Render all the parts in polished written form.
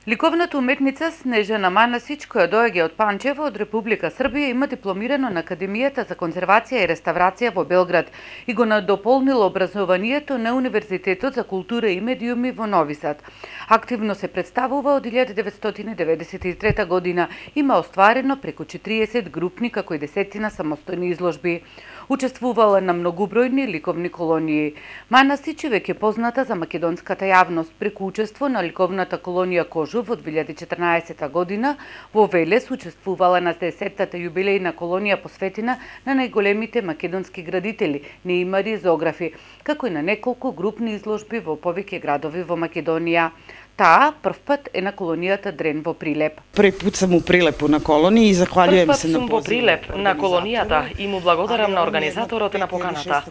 Ликовната уметница Снежана Манасич, која доаѓа од Панчево од Република Србија, има дипломирано на Академијата за конзервација и реставрација во Белград и го надополнила образованието на Универзитетот за култура и медиуми во Нови Сад. Активно се представува од 1993 година, има остварено преку 40 групни како и десетина самостојни изложби. Учествувала на многубројни ликовни колонии. Манасич е веќе позната за македонската јавност преку учество на ликовната колонија Кожув од 2014 година. Во Велес учествувала на 10-тата јубилејна колонија посветена на најголемите македонски градители, неимари и зоографи, како и на неколку групни изложби во повеќе градови во Македонија. Таа првпат е на колонијата Дрен во Прилеп. Први пат сум у Прилепу на колонија и захвалјуjem се на позив. Првпат сум во Прилеп на колонијата и му благодарам на организаторот на поканата.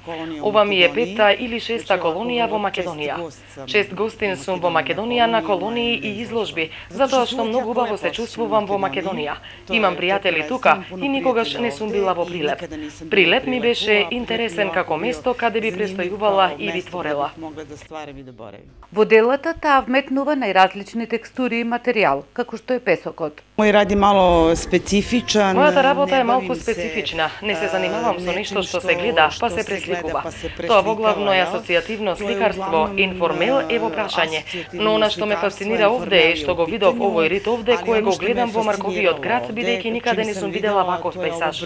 Ова ми е 5-та или 6-та колонија во Македонија. 6 гостин сум во Македонија на колонии и изложби, затоа што многу убаво се чувствувам во Македонија. Имам пријатели тука и никогаш не сум била во Прилеп. Прилеп ми беше интересен како место каде би престојувала и би творела. Во делата таа вметнува најразлични текстури и материјал, како што е песокот. Мој ради мало специфичен. Мојата работа е малку специфична. Не се занимавам со нешто што се гледа, па се пресликува. Тоа воглавно е асоцијативно сликарство, информел е во прашање. Но она што ме фасцинира овде е што го видов овој рит овде кој го гледам во Марковиот град, бидејќи никаде не сум видела ваков пейзаж.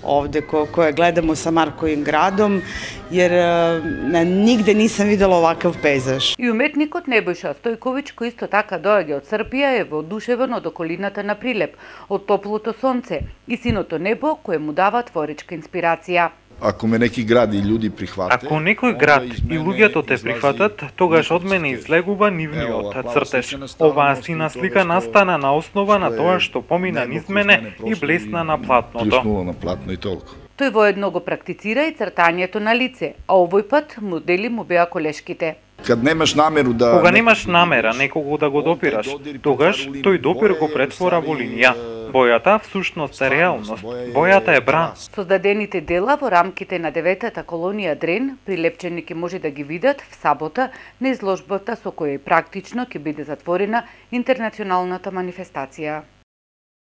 Овде кој гледам со Марковим градом, jer nigde nisam videla ovakav pejzaž. И уметникот Небојша Стојковиќ, кој исто така доаѓа од Србија, е воодушевен од околината на Прилеп, од топлото сонце и синото небо кое му дава творичка инспирација. Ако ме неки град и луѓе прихвате, ако некој град и луѓето те прифатат, тогаш од мене излегува нивниот цртеж. Оваа сина слика настана на основа на тоа што помина низ мене и блесна на платното. Блеснула на платно и толку. Тој воедно го практицира и цртањето на лице, а овој пат модели му беа колешките. Кога немаш намера некого да го допираш, тогаш тој допир го претвора во линија. Бојата всушност е реалност. Бојата е бран. Создадените дела во рамките на 9-та колонија Дрен, прилепчени ќе може да ги видат в сабота на изложбата со која и практично ќе биде затворена интернационалната манифестација.